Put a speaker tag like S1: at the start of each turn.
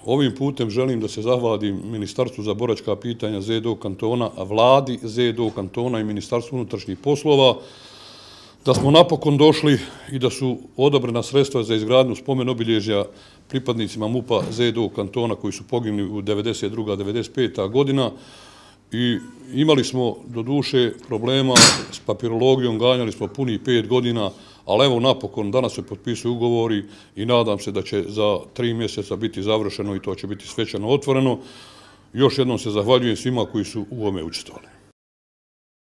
S1: Ovim putem želim da se zahvalim Ministarstvu za boračka pitanja ZDO kantona, vladi ZDO kantona i Ministarstvu unutrašnjih poslova, da smo napokon došli i da su odobrena sredstva za izgradnju spomen obilježja pripadnicima MUP-a ZDO kantona koji su poginuli u 92. 95. godina. I imali smo do duše problema s papirologijom, ganjali smo punih 5 godina, ali evo napokon danas se potpisuju ugovori i nadam se da će za 3 mjeseca biti završeno i to će biti svečano otvoreno. Još jednom se zahvaljujem svima koji su u ovome učestvovali.